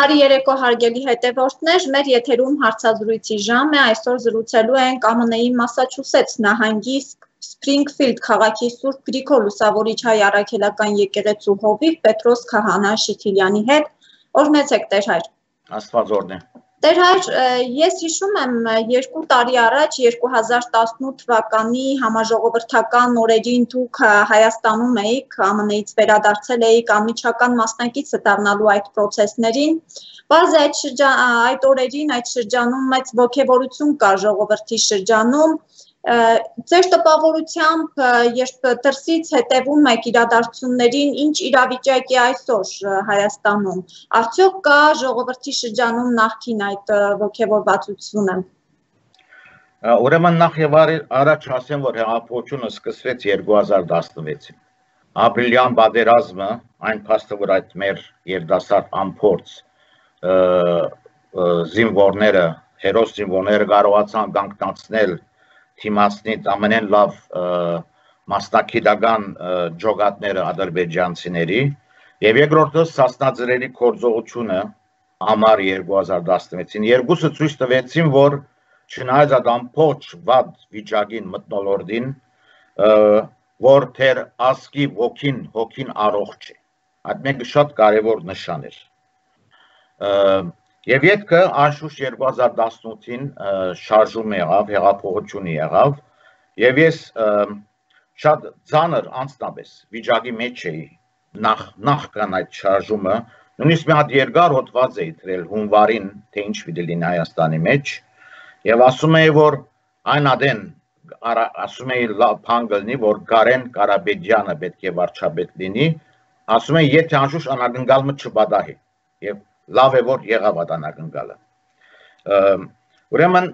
Բարի երեկո հարգելի հետևորդներ, մեր եթերում հարցազրույցի ժամ է, այսօր զրուցելու ենք ԱՄՆ-ի Մասաչուսեթս նահանգի Սփրինգֆիլդ քաղաքի Սուրբ Գրիգոր Լուսավորիչ հայ առաքելական եկեղեցու հովիվ Պետրոս Քահանա Շիթիլյանի հետ, որ մեծ եք Տեր հայր։ Աստված օրհնի։ Տեր հայր, ես հիշում եմ 2 տարի առաջ 2018 թվականի համաժողովրդական օրերին դուք Հայաստանում էիք, ԱՄՆ-ից վերադարձել էիք անմիջական մասնակիցը դառնալու այդ process-ներին, բազի այդ օրերին, այդ շրջանում մեծ ոգևորություն կար ժողովրդի շրջանում, ձեր տպավորությամբ, երբ դրսից հետևում եք իրադարձություններին, ինչ իրավիճակ է այսօր Հայաստանում, արդյոք կա ժողովրդի շրջանում նախքին այդ ոգևորվածությունը։ Ուրեմն նախ եւ առաջ ասեմ, որ հեղափոխությունը սկսվեց 2016-ին։ Ապրիլյան պատերազմը, այն փաստը, որ այդ մեր երիտասարդ անփորձ զինվորները, հերոս զինվորները կարողացան կանգնացնել թիմացնից ամենեն լավ մասնակիտական ջոկատները ադրբեջանցիների եւ երկրորդը սասնաձրերի գործողությունը ամառ 2016-ին երկուսը ցույց տվեցին, որ չնայած այդ ամբողջ վատ վիճակին մթնոլորտին, որ թեր ասկի հոգին առողջ է։ Այդ մեկը շատ կարևոր նշան էր։ Եվ ետքը անշուշտ 2018-ին շարժում եղավ, հեղափոխություն եղավ, եւ ես շատ ծանր անձնապես վիճակի մեջ էի նախքան այդ շարժումը, նույնիսկ մի հատ երկար հոդված էի դրել հունվարին, թե ինչ պիտի լինի Հայաստանի մեջ, եւ ասում էի, որ այն ադեն ասում էի բան կլինի, որ Կարեն Կարապետյանը պետք է վարչապետ լինի, ասում էի, եթե անշուշտ անակնկալը չպատահի, եւ լավ է, որ եղավ այդ անակնկալը։ Ուրեմն,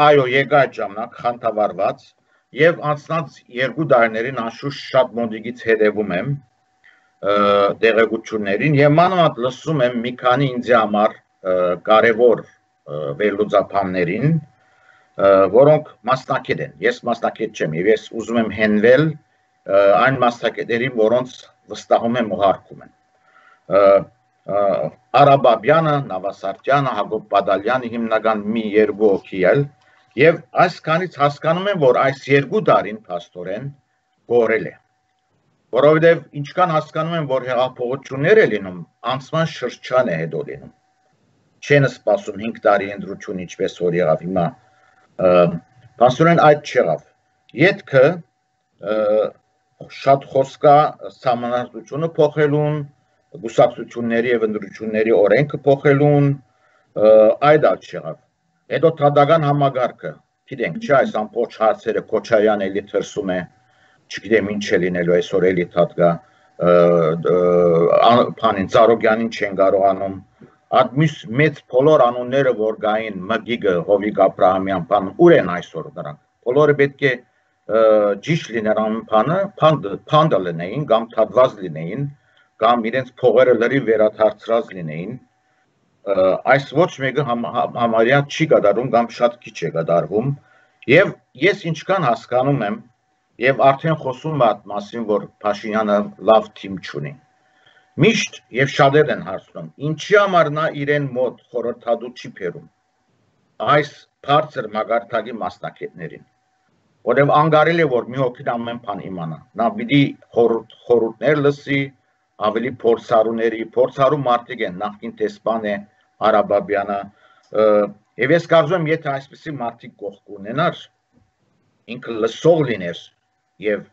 այո, եկա այդ ժամանակ խանդավառված եւ անցած 2 տարիներին անշուշտ շատ մոտիկից հետևում եմ տեղեկություններին եւ մանավանդ լսում եմ մի քանի ինձ համար կարևոր վերլուծաբաններին, որոնք մասնակից են։ Ես մասնակից չեմ եւ ես ուզում եմ հենվել այն մասնակիցներին, որոնց վստահում եմ ու հարգում եմ։ Արաբաբյանը, Նավասարդյանը, Հակոբ Բադալյանը հիմնական մի 2 հոգի էլ եւ այսքանից հասկանում եմ, որ այս 2 տարին փաստորեն գորել է։ Որովհետեւ ինչքան հասկանում եմ, որ հեղափոխություններ է լինում, անցման շրջան է հետո լինում։ Չեն սպասում 5 տարի ընտրություն, ինչպես որ եղավ հիմա։ Փաստորեն այդ չեղավ։ Ետքը շատ խոսքա համանadrությունը փոխելուն, գուսակցությունների եւ ընտրությունների օրենքը փոխելուն, այդ չեղավ։ Հետո թադական համագարկը, գիտենք, չէ, այս ամբողջ հարցերը Քոչարյանը էլի թրսում է, չգիտեմ ինչ է լինելու այսօր էլի թադկա, բանին Ծառուկյանին չեն կարողանում, այդ մեծ բոլոր անունները, որ գային Մգիգը, Հովիկ Աբրահամյան, բան, ուր են այսօր դրանք։ Բոլորը պետք է ճիշտ լինեն բանը, փանդը լինեին, կամ թադված լինեին, կամ իրենց փողերը լրիվ վերադարձրած լինեին, այս ոչ մեկը համարյա չի կատարում կամ շատ քիչ է կատարվում, եւ ես ինչքան հասկանում եմ, եւ արդեն խոսում եմ այդ մասին, որ Փաշինյանը լավ թիմ չունի։ Միշտ եւ շատեր են հարցնում, ինչի համար նա իրեն մոտ խորհրդատու չի բերում այս բարձր մագարտակի մասնակիցներին, որովհետեւ անկարելի է, որ մի հոգին ամեն բան իմանա, նա պիտի խորհուրդներ լսի, ավելի փորձառու մարդիկ են, նախկին տեսփան է Արաբաբյանը, եւ ես կարծում եմ, եթե այսպիսի մարդիկ կողք ունենար, ինքը լսող լիներ եւ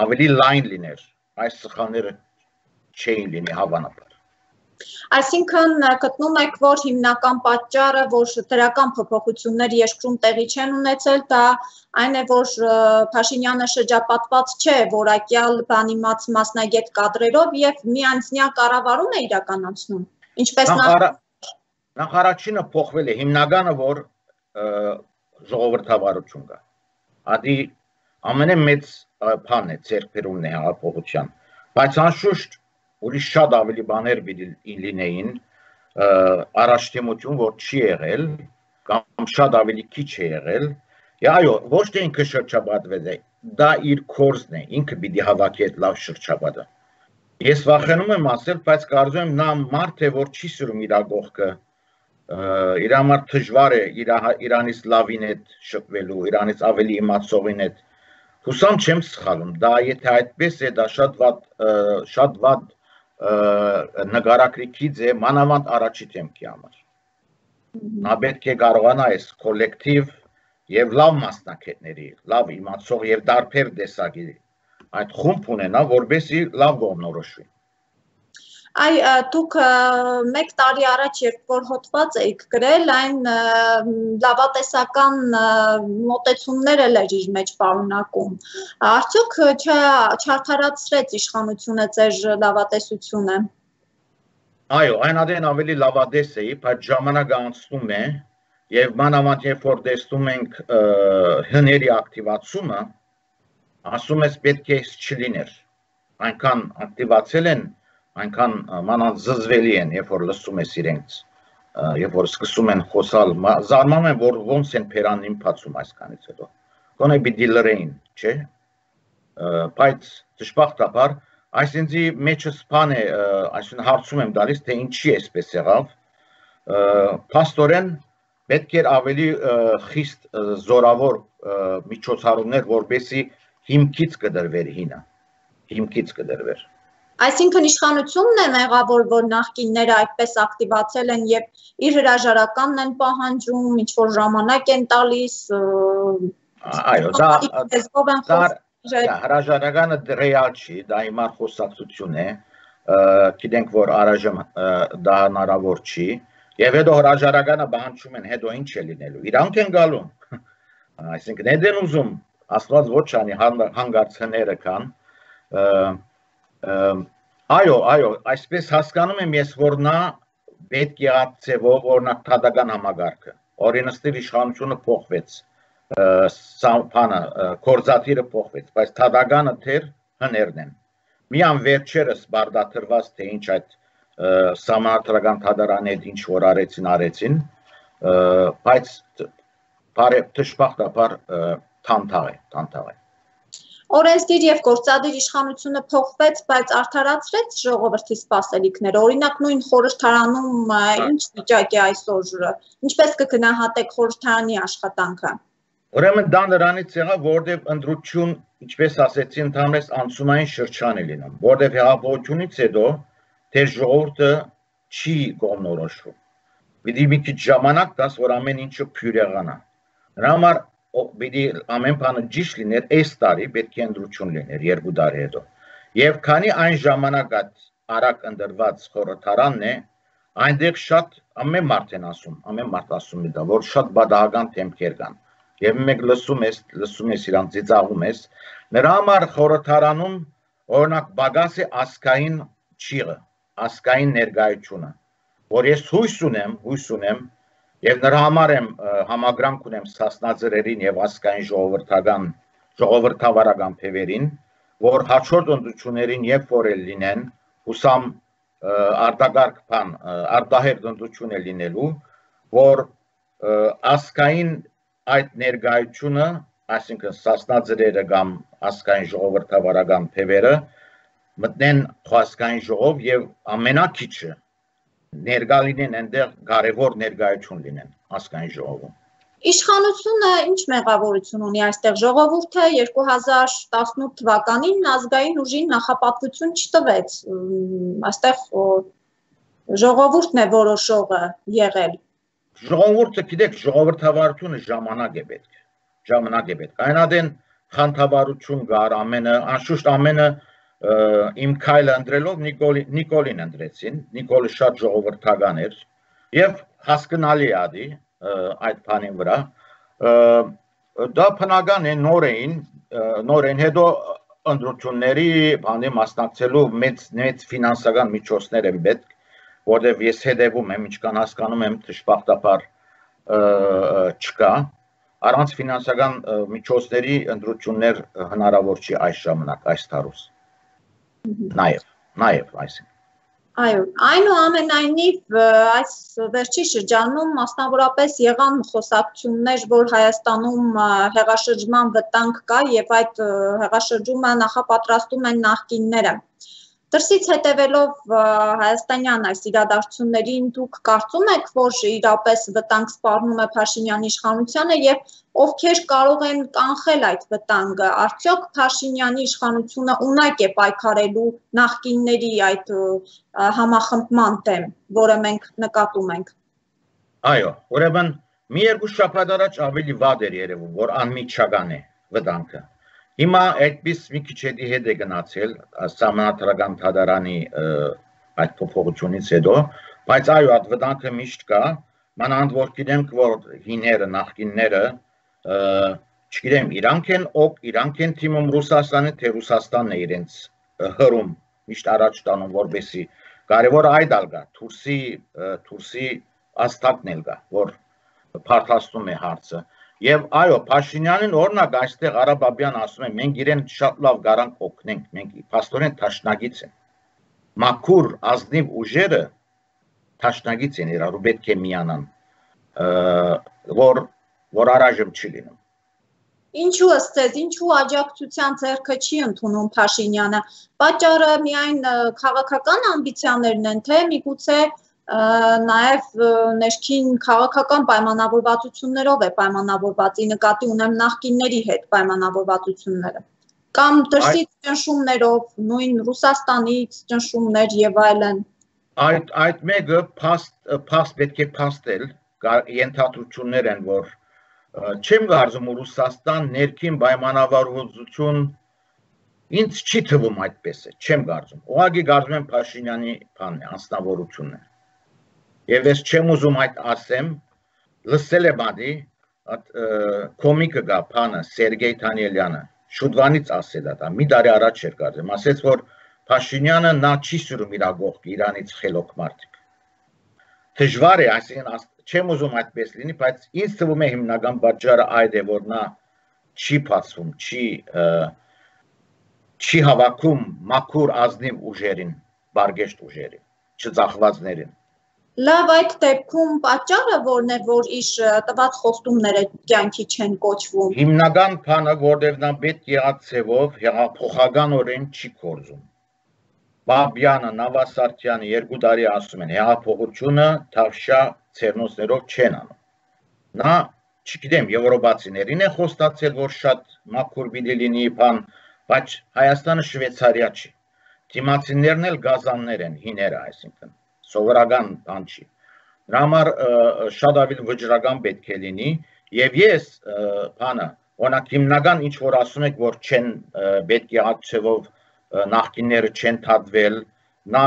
ավելի լայն լիներ, այս սխալները չէին լինի հավանաբար։ Այսինքն գտնում եք, որ հիմնական պատճառը, որ դրական փոփոխություններ երկրում տեղի չեն ունեցել, դա այն է, որ Փաշինյանը շրջապատված չէ որակյալ բանիմաց մասնագետ կադրերով եւ միանձնյա կառավարում է իրականացնում։ Ինչպես նախ առաջինը փոխվել է, հիմնականը, որ ժողովրդավարություն կա։ Ադի ամենամեծ բանն է ձեռքբերումն է հեղափոխության, բայց անշուշտ ուրիշ շատ ավելի բաներ լինեին, առաջադիմություն, որ չի եղել, կամ շատ ավելի քիչ է եղել, այո, ոչ թե ինքը շրջապատվեց է, դա իր կորզն է, ինքը պիտի հավաքի այդ լավ շրջապատը։ Ես վախենում եմ ասել, բայց կարծում եմ նա մարդ է, որ չի սիրում իր գողքը, իր համար դժվար է իրանից լավին հետ շփվելու, իրանից ավելի իմացողին հետ։ Հուսամ չեմ սխալում, դա եթե այդպես է, դա շատ վատ նկարագրիքից է, մանավանդ առաջի դեմքի համար։ Նա պետք է կարողանա այս կոլեկտիվ եւ լավ մասնակիցների, լավ իմացող եւ դարբեր տեսակի այդ խումբ ունենա, որովհետեւ լավ կողմնորոշվի։ Այ դուք մեկ տարի առաջ երբ որ հոդված էիք գրել, այն լավատեսական մոտեցումներ էլ էր իր մեջ պարունակում։ Արդյոք չարդարացրեց իշխանությունը ձեր լավատեսությունը։ Այո, այն ավելի լավադես էի, բայց ժամանակը անցնում է եւ մանավանդ երբ որ տեսնում ենք հների ակտիվացումը, ասում ես պետք է չլիներ։ Այնքան ակտիվացել են, այնքան մանավանդ զզվելի են, երբ որ լսում ես իրենց, երբ որ սկսում են խոսալ, զարմանում են, որ ոնց են փերանին փացում այսքանից հետո։ Գոնե պիտի լրեին, չէ՞։ Բայց դժբախտաբար այսինքն մեջս բան է, այսինքն հարցում եմ դալիս, թե ինչի էսպես եղավ։ Փաստորեն պետք էր ավելի խիստ զորավոր միջոցառումներ, որպեսզի հիմքից կդրվեր հինը, հիմքից կդրվեր։ Այսինքն իշխանությունն է մեղավոր, որ նախկինները այդպես ակտիվացել են եւ իր հրաժարականն են պահանջում, ինչ որ ժամանակ են տալիս։ Այո, դա հրաժարականը ռեալ չի, դա հիմա խոսակցություն է, գիտենք, որ առայժմ դա հնարավոր չի, եւ հետո հրաժարականը պահանջում են, հետո ինչ է լինելու, իրանք են գալու, այսինքն հետ են ուզում, Աստված ոչ անի հանգարց հները կան, այո, այսպես հասկանում եմ ես, որ նա պետք է ածևով, օրինակ թադական համագարկը, օրենսդիր իշխանությունը փոխվեց, կորզատիրը փոխվեց, բայց թադականը թեր հներն են։ Միան վերջերս բարդաթրված, թե ինչ այդ սահմանադրական թադարանի հետ ինչ որ արեցին, բայց դժբախտաբար թանթաղ է։ Օրենսդիր եւ գործադիր իշխանությունը փոխվեց, բայց արդարացրեց ժողովրդի սպասելիքները։ Օրինակ նույն խորհրդարանում ինչ վիճակ է այսօր, ինչպես կգնահատեք խորհրդարանի աշխատանքը։ Ուրեմն դա նրանից եղավ, որտեղ ընտրություն, ինչպես ասեցի, ընդհանրապես անցումային շրջան է լինում, որտեղ հեղափոխությունից հետո թե ժողովուրդը չի կողմնորոշվում։ Պիտի մի քիչ ժամանակ տաս, որ ամեն ինչը փյուրեղանա։ Նրա համար պիտի ամեն բանը ճիշտ լիներ, այս տարի պետք է ընտրություն լիներ 2 տարի հետո։ Եվ քանի այն ժամանակ արագ ընտրված խորհրդարանն է, այնտեղ շատ ամեն մարդ ասում է դա, որ շատ բադահական դեմքեր կան։ Եվ մեկ լսում ես իրան ծիծաղում ես, նրա համար խորհրդարանում օրինակ բագաս է ասկային ճիղը, ասկային ներկայությունը, որ ես հույս ունեմ եւ նրա համար եմ համագրանք ունեմ Սասնաձրերին եւ ասկային ժողովրդավարական փևերին, որ հաջորդ ընտրություններին երբ որ լինեն, հուսամ արտագարկ բան, արտահերտ ընտրություն է լինելու, որ ասկային այդ ներկայությունը, այսինքն Սասնաձրերը կամ ասկային ժողովրդավարական փևերը մտնեն ասկային ժողով եւ ամենակիչը ներկա լինեն այնտեղ կարևոր ներկայություն լինեն ասկային ժողովում։ Իշխանությունը ինչ մեղավորություն ունի այստեղ, ժողովուրդը 2018 թվականին ազգային ուժին նախապատվություն չտվեց, այստեղ ժողովուրդն է որոշողը եղել։ Ժողովուրդը, գիտեք, ժողովրդավարությունը ժամանակ է պետք։ Այնադեն խանդավառություն կար, անշուշտ ամենը իմ քայլը ընտրելով Նիկոլին ընտրեցին, Նիկոլը շատ ժողովրդական էր եւ հասկանալի է այդ բանի վրա, դա բնական է նոր էին հետո ընտրությունների բանի մասնակցելու մեծ ֆինանսական միջոցներ են պետք, որտեղ ես հետևում եմ, ինչքան հասկանում եմ, դժբախտաբար չկա, առանց ֆինանսական միջոցների ընտրություններ հնարավոր չի այս ժամանակ, այս տարուս։ Նաև այսինքն։ Այո, այնուամենայնիվ այս վերջի շրջանում մասնավորապես եղան խոսակցություններ, որ Հայաստանում հեղաշրջման վտանգ կա եւ այդ հեղաշրջումը նախապատրաստում են նախկինները։ Դրսից հետևելով հայաստանյան այս իրադարձություններին դուք կարծում եք, որ իրապես վտանգ սպառնում է Փաշինյանի իշխանությանը եւ ովքեր կարող են կանխել այդ վտանգը, արդյոք Փաշինյանի իշխանությունը ունակ է պայքարելու նախկինների այդ համախմբման դեմ, որը մենք նկատում ենք։ Այո, ուրեմն մի երկու շաբաթ առաջ ավելի վատ էր երևում, որ անմիջական է վտանգը։ Հիմա այդպես մի քիչ հետ է գնացել Սահմանադրական թադարանի այդ փոփոխությունից հետո, բայց այո, այդ վտանգը միշտ կա, մանավանդ որ գիտենք, որ հիները, նախկինները, չգիտեմ, իրանք են թիմում Ռուսաստանը, թե Ռուսաստանն է իրենց հրում միշտ առաջ տանում, որպեսզի կարևորը այդ ալ գա, Թուրսի աստակն էլ գա, որ փարթաստում է հարցը։ Եվ այո, Փաշինյանին օրինակ այստեղ Արաբաբյան ասում է, մենք իրեն շատ լավ գարանք օգնենք, մենք փաստորեն թաշնագից են։ Մաքուր ազնիվ ուժերը թաշնագից են իրար ու պետք է միանան, որ առայժմ չի լինում։ Ինչու ըստ ձեզ, ինչու աջակցության ձեռքը չի ընդունում Փաշինյանը։ Պատճառը միայն քաղաքական ամբիցիաներն են, թե միգուցե նաև ներքին քաղաքական պայմանավորվածություններով է պայմանավորված, ի նկատի ունեմ նախկինների հետ պայմանավորվածությունները, կամ դրսից ճնշումներով, նույն Ռուսաստանից ճնշումներ եւ այլն։ Այդ մեկը պետք է փաստել, ենթադրություններ են, որ չեմ կարծում Ռուսաստան ներքին պայմանավորվածություն ինձ չի թվում այդպես է, չեմ կարծում։ Ուղղակի կարծում եմ Փաշինյանի անձնավորությունն է։ Եվ ես չեմ ուզում այդ ասեմ, լսել եմ ադի, կոմիկը գա պանը, Սերգեյ Թանելյանը, շուտվանից ասել ադա, մի դարի առաջ էր կարծեմ, ասեց, որ Փաշինյանը նա չի սուրում իր ագողք, իրանից խելոք մարդիկ։ Դժվար է, այսինքն չեմ ուզում այդպես լինի, բայց ինձ թվում է հիմնական պատճառը այդ է, որ նա չի փածվում, չի հավաքում մաքուր ազնիվ ուժերին, բարգեշտ ուժերին, չծախվածներին։ Լավ, այդ դեպքում պատճառը որն է, որ իր տված խոստումները կյանքի չեն կոչվում։ Հիմնական բանը, որտեղ նա պետք եղած ձևով հեղափոխականորեն չի կորզում։ Բաբյանը, Նավասարդյանը 2 տարի ասում են, հեղափոխությունը թավշյա ցերնոցներով չեն անում։ Նա, չգիտեմ, եվրոպացիներին է խոստացել, որ շատ մաքուր պիտի լինի բան, բայց Հայաստանը Շվեյցարիա չի։ Դիմացիներն էլ գազաններ են, հիները, այսինքն սովորական բան չի։ Դրա համար շատ ավելի վճռական պետք է լինի եւ ես բանը, օրինակ հիմնական ինչ որ ասում եք, որ չեն պետք եղած ցևով նախկինները չեն թադվել, նա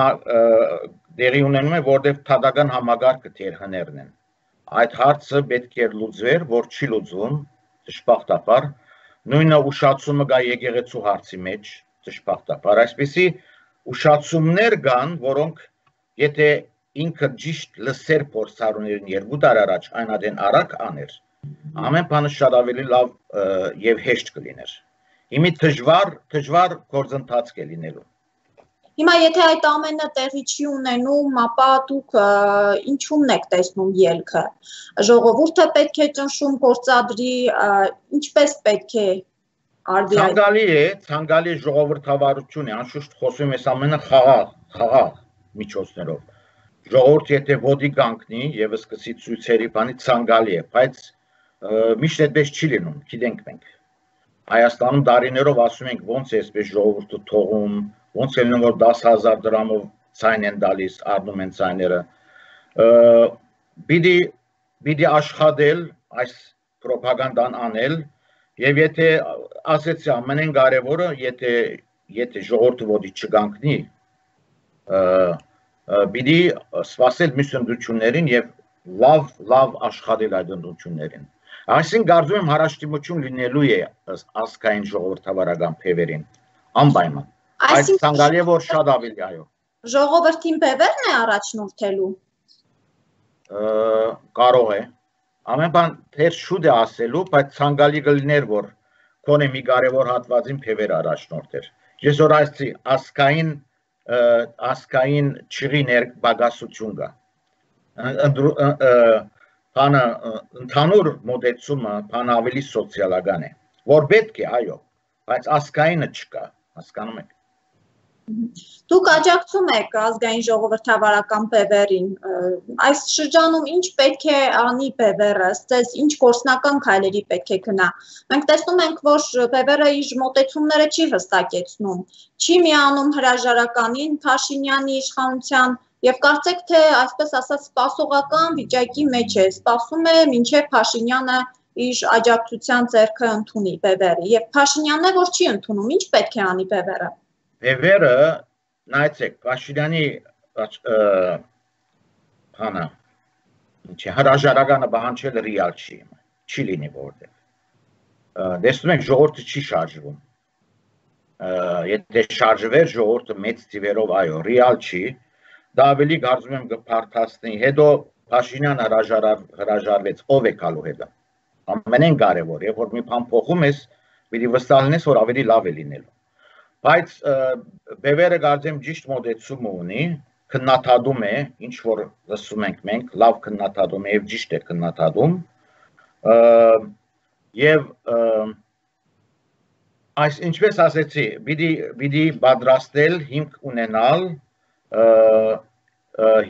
դերի ունենում է, որտեղ թադական համագարկը թեր հներն են։ Այդ հարցը պետք է լուծվեր, որ չի լուծվում, դժբախտաբար, նույնը ուշացումը գա եկեղեցու հարցի մեջ, դժբախտաբար, այսպեսի ուշացումներ կան, որոնք եթե ինքը ճիշտ լսեր փորձառուներին 2 տարի առաջ այն adեն արագ աներ, ամեն բանը շատ ավելի լավ եւ հեշտ կլիներ։ Հիմի դժվար գործընթաց կլինելու։ Հիմա եթե այդ ամենը տեղի չի ունենում, ապա դուք ինչու՞մն եք տեսնում ելքը։ Ժողովուրդը պետք է ճնշում գործադրի, ինչպես պետք է արվի։ Ցանկալի ժողովրդավարություն է, անշուշտ խոսում ես ամենը խաղաղ միջոցներով։ Ժողովուրդ եթե ոտի կանգնի եւ սկսի ցույցերի բանի ցանկալի է, բայց միշտ այդպես չի լինում, գիտենք մենք։ Հայաստանում դարիներով ասում ենք ոնց է այսպես ժողովուրդը թողում, ոնց է լինում որ 10,000 դրամով ցայն են տալիս, առնում են ցայները։ Պիտի աշխատել այս ռոպագանդան անել եւ եթե ասեցի ամենեն կարևորը, եթե ժողովուրդը ոտի չկանգնի, պիտի սպասել մյուս ընդդություններին եւ լավ աշխատել այդ ընդդություններին։ Այսինքն կարծում եմ հարաշտիմություն լինելու է ազգային ժողովրդավարական փևերին, անպայման։ Այս ցանկալի է որ շատ ավելի այո։ Ժողովրդին փևերն է առաջնորդելու։ Կարող է։ Ամեն բան թեր շուտ է ասելու, բայց ցանկալի կլիներ որ կոնե մի կարևոր հատվածին փևեր առաջնորդեր։ Ես որ այսի ասկային չղի ներբագասություն կա։ Բանը ընդհանուր մոդեցումը բան ավելի սոցիալական է, որ պետք է, այո, բայց ասկայինը չկա, հասկանում եք։ Դուք աջակցում եք ազգային ժողովրդավարական բևեռին, այս շրջանում ինչ պետք է անի բևեռը, ըստ ինչ գործնական քայլերի պետք է գնա։ Մենք տեսնում ենք, որ բևեռը իր մոտեցումները չի հստակեցնում, չի միանում հրաժարականին Փաշինյանի իշխանության եւ կարծեք թե այսպես ասած սպասողական վիճակի մեջ է, սպասում է մինչեւ Փաշինյանը իր աջակցության ձեռքը ընդունի բևեռի եւ Փաշինյանն է, որ չի ընդունում, ինչ պետք է անի բևեռը։ Բևեռը, նայեցեք, Փաշինյանի բանը, հրաժարականը պահանջել ռեալ չի լինի որտեղ։ Տեսնում եք, ժողովուրդը չի շարժվում։ Եթե շարժվեր ժողովուրդը մեծ թիվերով, այո, ռեալ չի, դա ավելի կարծում եմ կփարթացնի։ Հետո Փաշինյանը հրաժարվեց, ով է գալու հետո։ Ամենեն կարևոր, երբ որ մի բան փոխում ես, պիտի վստահ լինես, որ ավելի լավ է լինելու։ Բայց բևեռը կարծեմ ճիշտ մոտեցում ունի, քննադատում է, ինչ որ լսում ենք մենք, լավ քննադատում է եւ ճիշտ է քննադատում։ Եվ այս ինչպես ասեցի, պիտի պատրաստել հիմք ունենալ,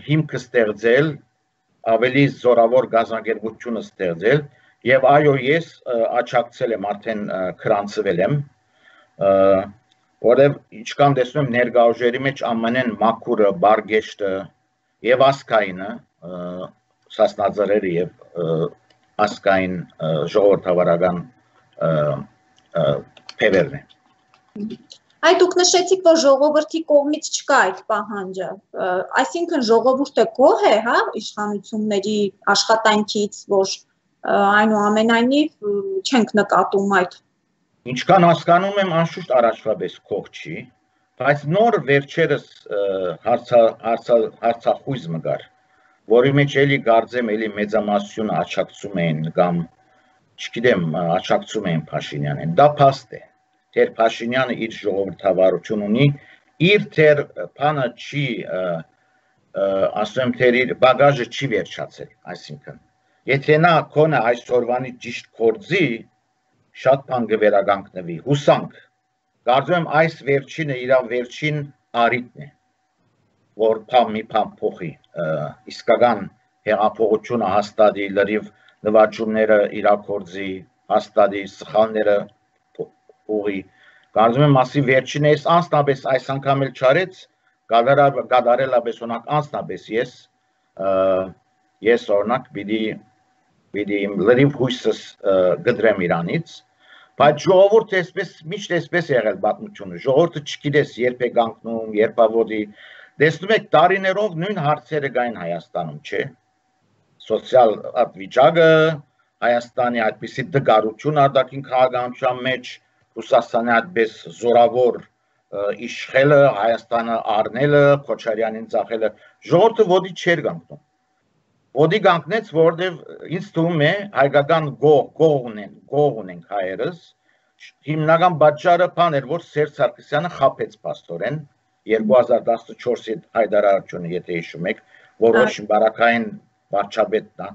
հիմքը ստեղծել, ավելի զորավոր գազագերբությունը ստեղծել եւ այո ես աջակցել եմ արդեն քրանցվել եմ որովհետեւ ինչքան տեսնում եմ ներգաղթերի մեջ ամենեն մաքուրը բարգեշտը եւ ասկայինը սասնաձրերը եւ ասկային ժողովրդավարական բևեռն է Այ դուք նշեցիք, որ ժողովրդի կողմից չկա այդ պահանջը, այսինքն ժողովուրդը գոհ է, հա, իշխանությունների աշխատանքից, որ այնուամենայնիվ չենք նկատում այդ։ Ինչքան հասկանում եմ, անշուշտ առաջվա պես գոհ չի, բայց նոր վերջերս հարցախույզ մգար, որի մեջ էլի կարծեմ էլի մեծամասնությունը աջակցում էին կամ չգիտեմ, աջակցում էին Փաշինյանին, դա փաստ է։ Թեր Փաշինյանը իր ժողովրդավարություն ունի, իր թեր բանը չի, ասում թեր իր բագաժը չի վերջացել, այսինքն, եթե նա կոնը այսօրվանի ճիշտ գործի, շատ բան կվերականգնվի, հուսանք, կարծում եմ այս վերջինը իր վերջին առիթն է, որ մի բան փոխի, իսկական հեղափոխությունը հաստատի, լրիվ նվաճումները իրագործի, հաստատի, սխալները ուղի, կարծում եմ ասի վերջին ես անձնապես այս անգամ էլ չարեց, գադարելապես օրինակ անձնապես ես օրինակ պիտի լրիվ հույսս գդրեմ իրանից, բայց ժողովուրդը միշտ այսպես եղել պատմությունը, ժողովուրդը չգիտես երբ է կանգնում, երբավոդի, տեսնում եք տարիներով նույն հարցերը կային Հայաստանում, չէ, սոցիալ վիճակը, Հայաստանի այդպիսի դգարություն արտաքին քաղաքականության մեջ Ռուսաստանի այդպես զորավոր իշխելը, Հայաստանը առնելը, Քոչարյանին ծախելը, ժողովուրդը ոդի չէր կանգնում։ Ոդի կանգնեց, որովհետև ինձ թվում է հայկական գող ունենք հայերս, հիմնական պատճառը բան էր, որ Սերժ Սարգսյանը խաբեց փաստորեն 2014-ի հայտարարությունը, եթե հիշում եք, որոշ բարակային վարչապետն է։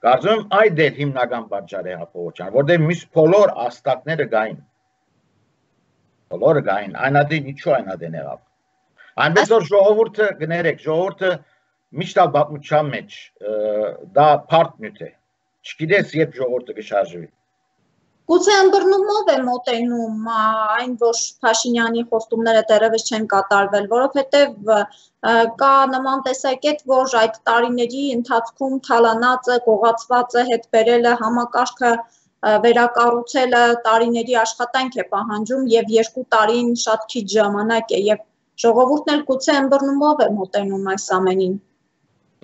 Կարծում եմ այդ էր հիմնական պատճառը հեղափոխության, որովհետև մյուս բոլոր աստղները կային։ Բոլորը կային, այնադին ինչու այնադին եղավ։ Այնպես որ ժողովուրդը գներեք, ժողովուրդը միշտ պատմության մեջ դա բարդ նյութ է։ Չգիտես երբ ժողովուրդը կշարժվի։ Գուցե ըմբռնումով է մոտենում այն, որ Փաշինյանի խոստումները դեռևս չեն կատարվել, որովհետև կա նման տեսակետ, որ այդ տարիների ընթացքում թալանածը, գողացվածը հետ բերելը համակարգը վերակառուցելը տարիների աշխատանք է պահանջում եւ 2 տարին շատ քիչ ժամանակ է եւ ժողովուրդն էլ գուցե ըմբռնումով է մոտենում այս ամենին։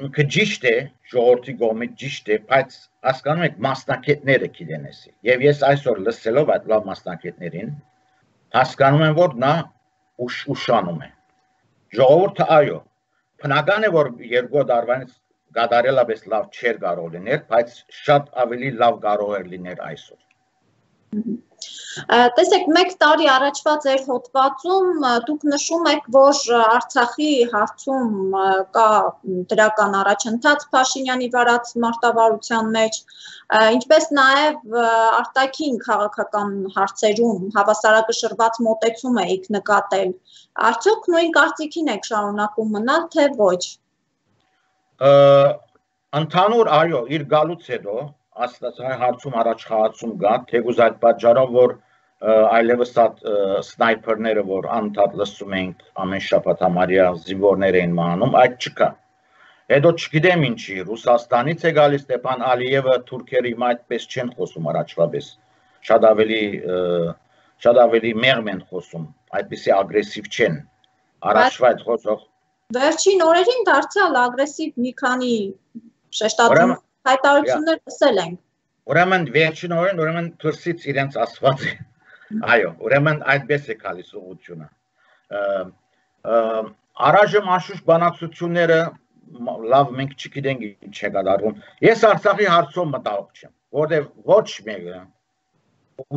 Ինքը ճիշտ է, ժողովրդի կողմից ճիշտ է, բայց հասկանում եք մասնակիցները գիտեն էսի։ Եվ ես այսօր լսելով այդ լավ մասնակիցներին հասկանում եմ, որ նա ուշանում է։ Ժողովուրդը այո, բնական է, որ 2 տարվանից գադարելապես լավ չէր կարող լինել, բայց շատ ավելի լավ կարող էր լինել այսօր։ Տեսեք, 1 տարի առաջվա ձեր հոդվածում դուք նշում եք, որ Արցախի հարցում կա դրական առաջընթաց Փաշինյանի վարած մարտավարության մեջ, ինչպես նաև արտաքին քաղաքական հարցերում հավասարակշռված մոտեցում եք նկատել։ Արդյոք նույն կարծիքին եք շարունակում մնալ, թե ոչ։ Ընդհանուր, այո, իր գալուց հետո Աստծո հարցում առաջխաղացում կա, թեկուզ այդ պատճառով, որ այլևս սնայփերները, որ անդադ լսում ենք ամեն շաբաթ համարյա զինվորներ էին մահանում, այդ չկա։ Հետո չգիտեմ ինչի, Ռուսաստանից է գալիս Ստեփան Ալիևը, թուրքերը հիմա այդպես չեն խոսում առաջվա պես, շատ ավելի մեղմ են խոսում, այդպիսի ագրեսիվ չեն, առաջվա այդ խոսող։ Վերջին օրերին դարձյալ ագրեսիվ մի քանի շեշտադրում հայտարարություններ լսել ենք։ Ուրեմն վերջին օրերին, ուրեմն դրսից իրենց ասված է։ Այո, ուրեմն այդպես է գալիս ուղղությունը։ Առայժմ անշուշտ բանակցությունները լավ մենք չգիտենք ինչ է կատարվում։ Ես Արցախի հարցով մտահոգ չեմ, որտեղ ոչ մեկը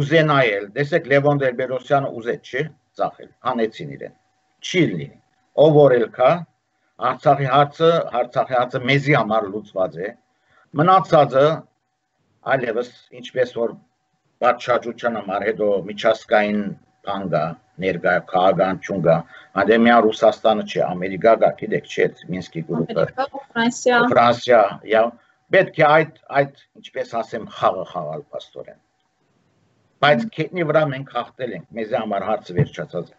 ուզենայել, տեսեք Լևոն Տեր-Պետրոսյանը ուզեց չի ծախել, հանեցին իրեն։ Չի լինի։ Ով որել կա, Արցախի հարցը մեզի համար լուծված է։ Մնացածը այլևս ինչպես որ պատշաճության համար հետո միջազգային բան կա, ներկայ քաղաքական ճուն կա, անդեմիա Ռուսաստանը չէ, Ամերիկա կա, գիտեք չէ, Մինսկի գրուպը, Ֆրանսիա, պետք է այդ ինչպես ասեմ խաղը խաղալ պաստորեն։ Բայց քետնի վրա մենք հաղթել ենք, մեզ համար հարցը վերջացած է։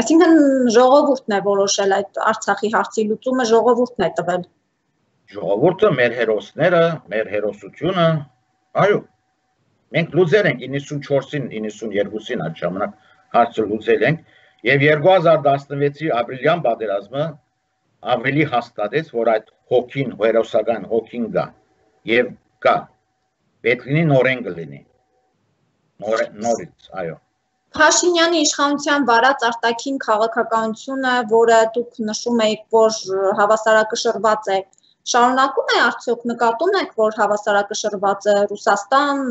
Այսինքն ժողովուրդն է որոշել այդ Արցախի հարցի լուծումը, ժողովուրդն է տվել։ Ժողովուրդը, մեր հերոսները, մեր հերոսությունը, այո, մենք լուծել ենք 94-ին, 92-ին այդ ժամանակ հարցը լուծել ենք եւ 2016-ի ապրիլյան պատերազմը ավելի հաստատեց, որ այդ հոգին, հերոսական հոգին կա եւ կա։ Պետք լինի նորեն կլինի։ Նորից, այո։ Փաշինյանի իշխանության վարած արտաքին քաղաքականությունը, որը դուք նշում եք, որ հավասարակշռված է, շարունակում է արդյոք նկատում եք, որ հավասարակշռված է Ռուսաստան,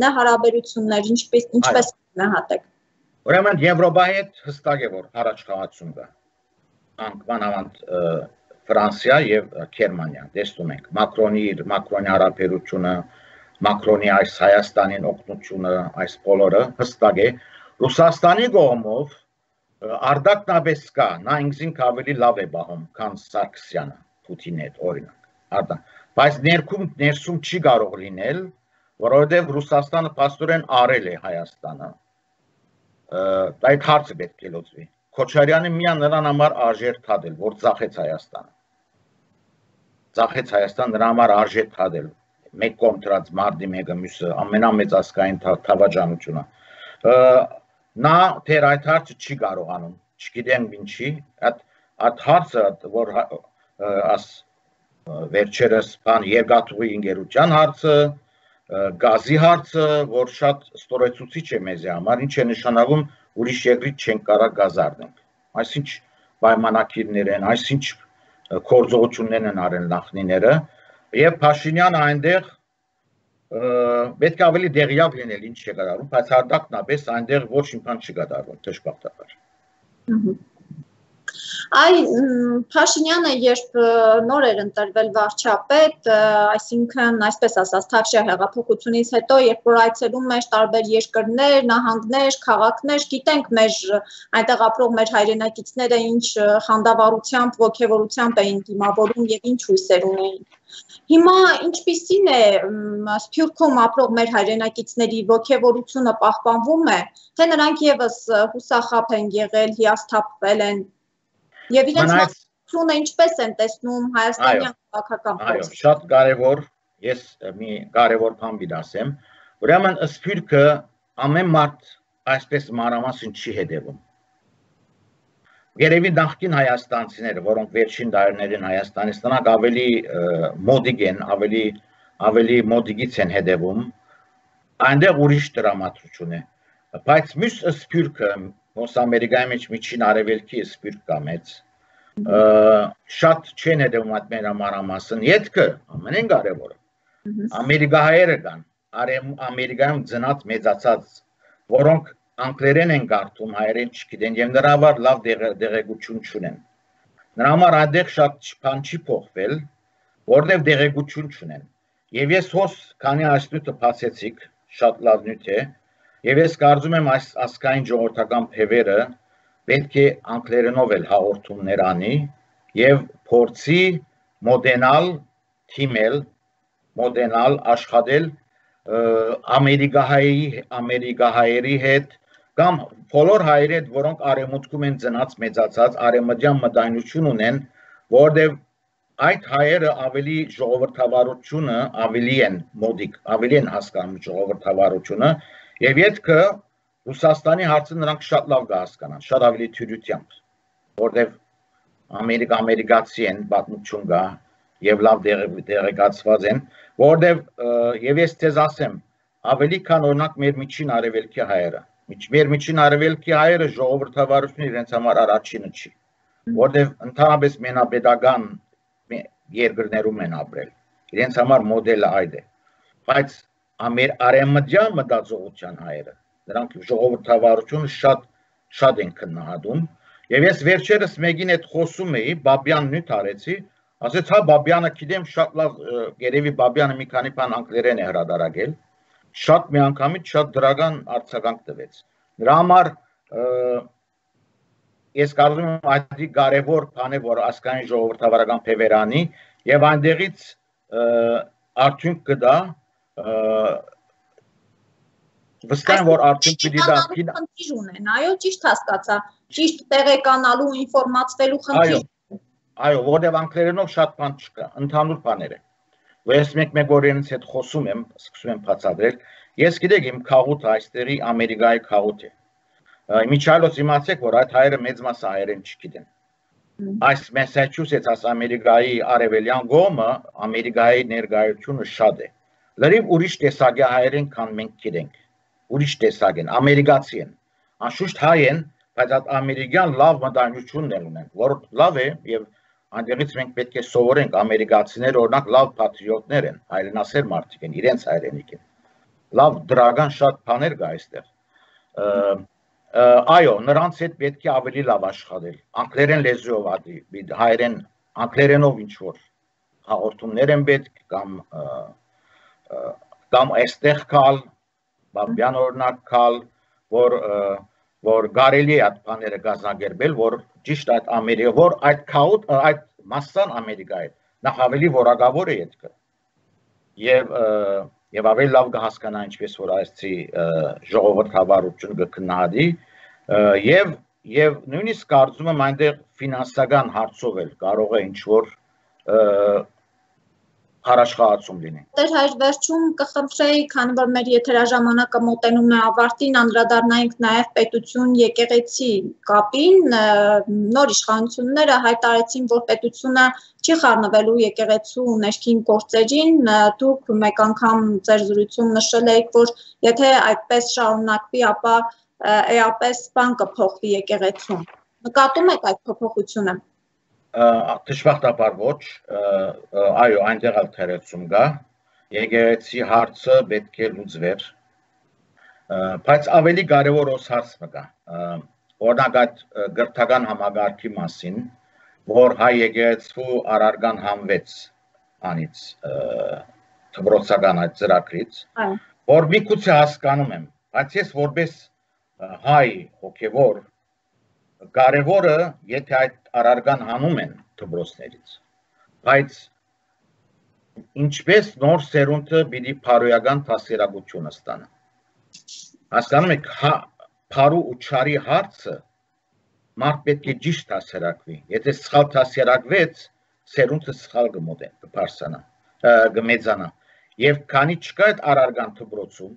ԱՄՆ հարաբերություններ, ինչպես գնահատեք։ Ուրեմն Եվրոպայի հետ հստակ է, որ առաջխաղացում կա։ Մանավանդ Ֆրանսիա եւ Գերմանիա, տեսնում ենք, Մակրոնի հարաբերությունը, Մակրոնի այս Հայաստանին օգնությունը, այս բոլորը հստակ է։ Ռուսաստանի կողմով արդակնաբես կա, նա ինքնին ավելի լավ է բաղում, քան Սարգսյանը, Պուտինի հետ օրինակ։ Բայց ներսում չի կարող լինել, որովհետև Ռուսաստանը պաստորեն արել է Հայաստանը։ Այդ հարցը պետք է լուծվի։ Քոչարյանը միան նրան համար արժեր թադել, որ ծախեց Հայաստանը։ Ծախեց Հայաստան նրա համար արժեր թադել։ Մեկ կողմ դրած մարտի մեկը մյուսը ամենամեծ ազգային թավաճանությունը։ Նա թեր այդ հարցը չի կարողանում, չգիտեմ ինչի, այդ հարցը, որ վերջերս երկաթուղի ընկերության հարցը, գազի հարցը, որ շատ ստորեցուցիչ է մեզ համար, ինչ է նշանակում ուրիշ երկրից չենք կարող գազ առնենք։ Այսինչ պայմանագիրներ են, այսինչ գործողություններ են արել նախնիները, եւ Փաշինյանը այնտեղ պետք է ավելի դեղյակ լինել ինչ է կատարվում, բայց հardakնապես այնտեղ ոչ մի բան չի կատարվում, դժբախտաբար։ Փաշինյանը երբ նոր էր ընտրվել վարչապետ, այսինքն այսպես ասած Թավշյա հեղափոխությունից հետո, երբ որ այցելում էր տարբեր երկրներ, նահանգներ, քաղաքներ, գիտենք մեր այնտեղ ապրող մեր հայրենակիցները ինչ խանդավառությամբ, ոգևորությամբ էին դիմավորում եւ ինչ հույսեր ունեին։ Հիմա ինչպիսին է Սփյուռքում ապրող մեր հայրենակիցների ոգևորությունը պահպանվում է, թե նրանք եւս հուսախաբ են եղել, հիասթափվել են եւ իրենց մասնությունը ինչպես են տեսնում հայաստանյան քաղաքական փորձը։ Այո, շատ կարեւոր, ես մի կարեւոր բան դասեմ, ուրեմն Սփյուռքը ամեն մարդ այսպես մանրամասն չի հետևում։ Երևի նախկին հայաստանցիները, որոնք վերջին դարերին Հայաստանից նրանք ավելի մոդիկ են, ավելի մոդիկից են հետևում, այնտեղ ուրիշ դրամատրություն է։ Բայց մյուս Սփյուռքը, ոնց Ամերիկայի մեջ միջին արևելքի Սփյուռք կա մեծ, շատ չեն հետևում այդ մեր մանրամասն, ետքը ամենեն կարևորը։ Ամերիկահայերը կան, Ամերիկայում ծնած մեծացած, որոնք անգլերեն են կարդում, հայերեն չգիտեն եւ նրա համար լավ դեղեցություն չունեն։ Նրա համար այնտեղ շատ բան չի փոխվել, որտեղ դեղեցություն չունեն։ Եվ ես հոս քանի այս նյութը բացեցիք, շատ լավ նյութ է, եւ ես կարծում եմ այս ասկային ժողովրդական փևերը պետք է անգլերենով էլ հաղորդումներ անի եւ փորձի մոդենալ թիմել, մոդենալ աշխատել ամերիկահայերի հետ կամ բոլոր հայերի հետ, որոնք արևմուտքում են ծնած մեծացած, արևմտյան մտայնություն ունեն, որտեղ այդ հայերը ավելի ժողովրդավարությունը ավելի են մոդիկ, ավելի են հասկանում ժողովրդավարությունը եւ յետքը Ռուսաստանի հարցը նրանք շատ լավ կհասկանան, շատ ավելի թյուրությամբ, որտեղ ամերիկացի են, պատմություն կա եւ լավ դեղեկացված են, որտեղ եւ ես ցեզ ասեմ, ավելի քան օրինակ մեր միջին արևելքի հայերը, մեր միջին արևելքի հայերը ժողովրդավարությունը իրենց համար առաջինը չի, որտեղ ընդհանրապես մենապետական երկրներում են ապրել, իրենց համար մոդելը այդ է, բայց արևմտյան մտածողության հայերը, նրանք ժողովրդավարությունը շատ են քննադատում, եւ ես վերջերս մեկին հետ խոսում էի, Բաբյան նյութ արեցի, ասեց հա Բաբյանը գիտեմ շատ լավ, երևի Բաբյանը մի քանի բան անգլերեն է հրադարակել, շատ միանգամից շատ դրական արձագանք տվեց։ Նրա համար ես կարծում եմ այդ կարևոր բան է, որ ասկային ժողովրդավարական փևերանի եւ այնտեղից արդյունք կդա վստահ եմ, որ արդյունք պիտի դա խնդիր ունեն, այո, ճիշտ հասկացա, ճիշտ տեղեկանալու, ինֆորմացվելու խնդիր։ Այո, որտեղ անգլերենով շատ բան չկա, ընդհանուր բաներ են։ Ես մեկ օրենից հետ խոսում եմ, սկսում եմ բացատրել։ Ես գիտեք իմ քաղուտը այստեղի Ամերիկայի քաղուտ է։ Միջայլոց իմացեք, որ այդ հայերը մեծ մասը հայերեն չգիտեն։ Այս Մասաչուսեթս Ամերիկայի արևելյան կողմը Ամերիկայի ներկայությունը շատ է։ Լրիվ ուրիշ տեսակի հայերեն, քան մենք գիտենք։ Ուրիշ տեսակ են, ամերիկացի են։ Անշուշտ հայ են, բայց այդ ամերիկյան լավ մտայնություններ ունեն, որ լավ է եւ այնտեղից մենք պետք է սովորենք ամերիկացիները օրինակ լավ պատրիոտներ են, հայրենասեր մարդիկ են, իրենց հայրենիք են։ Լավ դրական շատ բաներ կա այստեղ։ Այո, նրանց հետ պետք է ավելի լավ աշխատել։ Անգլերեն լեզվով հայերեն անգլերենով ինչ որ հաղորդումներ են պետք կամ այստեղ կալ, Բաբյան օրինակ կալ, որ կարելի է այդ բաները կազմակերպել, որ ճիշտ այդ Ամերիկա, որ այդ քաղուտ, այդ մասսան Ամերիկայի նախ ավելի որակավոր է ետքը եւ ավելի լավ կհասկանա ինչպես որ այսցի ժողովրդավարություն կքննադի եւ նույնիսկ կարծում եմ այնտեղ ֆինանսական հարցով էլ կարող է ինչ որ Հարաշխացում լինի։ Տեր հայր վերջում կխնդրեի, քանի որ մեր եթերաժամանակը մոտենում է ավարտին, անդրադառնայինք նաև պետություն եկեղեցի կապին, նոր իշխանությունները հայտարարեցին, որ պետությունը չի խառնվելու եկեղեցու ներքին գործերին, դուք մեկ անգամ ձեր զրույցում նշել եք, որ եթե այդպես շարունակվի, ապա էապես բան կփոխվի եկեղեցում։ Նկատում եք այդ փոփոխությունը։ Դժբախտաբար ոչ, այո, այնտեղ էլ թերացում կա, եկեղեցի հարցը պետք է լուծվեր, բայց ավելի կարևոր ոս հարցը կա, օրինակ այդ գրթական համագարքի մասին, որ հայ եկեղեցու առարգան համվեց անից դպրոցական այդ ծրագրից, որ մի քուցե հասկանում եմ, բայց ես որպես հայ հոգևոր կարևորը, եթե այդ առարգան հանում են դպրոցներից, բայց ինչպես նոր սերունդը պիտի փարոյական դասերակցությունը ստանա։ Հասկանում եք, փարու ու չարի հարցը մարդ պետք է ճիշտ դասերակվի։ Եթե սխալ դասերակվեց, սերունդը սխալ կմոտենա, կմեծանա։ Եվ քանի չկա այդ առարգան դպրոցում,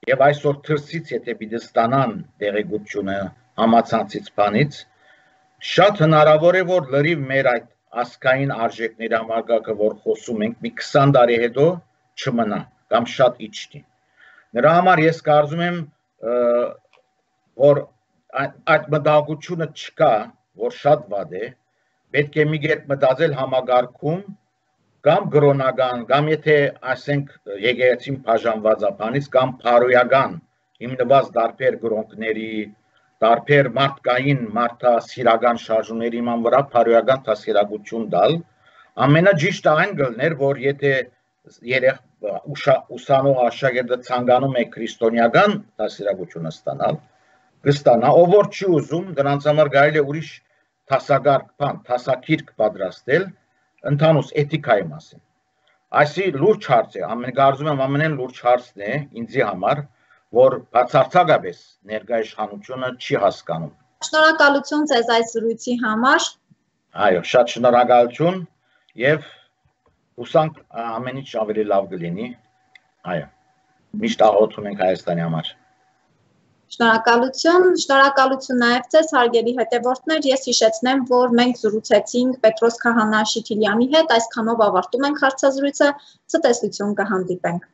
եւ այսօր թրսից եթե պիտի ստանան տեղեկությունը համացանցից բանից, շատ հնարավոր է, որ լրիվ մեր այդ ասկային արժեքների համակարգը, որ խոսում ենք, մի 20 տարի հետո չմնա, կամ շատ իջնի։ Նրա համար ես կարծում եմ, որ այդ մտահոգությունը չկա, որ շատ վատ է, պետք է մի կերպ մտածել համագարկում, կամ գրոնական, կամ եթե ասենք եկեղեցին բաժանված ապանից, կամ փարոյական հիմնված դարբեր գրոնքների, դարբեր մարդկային մարդասիրական շարժումների ման վրա փարոյական դասերակցություն տալ, ամենաջիշտը այն գլներ, որ եթե ուսանող աշակերտը ցանկանում է քրիստոնեական դասերակցությունը ստանալ, կստանա, ով որ չի ուզում, դրանց համար կարելի է ուրիշ դասագիրք պատրաստել ընդհանուր էթիկայի մասին։ Այսի լուրջ հարց է, կարծում եմ ամենեն լուրջ հարցն է ինձի համար, որ բացարձակապես ներկայ իշխանությունը չի հասկանում։ Շնորհակալություն ձեզ այս զրույցի համար։ Այո, շատ շնորհակալություն եւ հուսանք ամեն ինչ ավելի լավ կլինի։ Այո։ Միշտ աղոթում ենք Հայաստանի համար։ Շնորհակալություն նաև ձեզ հարգելի հետևորդներ, ես հիշեցնեմ, որ մենք զրուցեցինք Պետրոս Քահանա Շիթիլյանի հետ, այսքանով ավարտում ենք հարցազրույցը, ցտեսություն կհանդիպենք։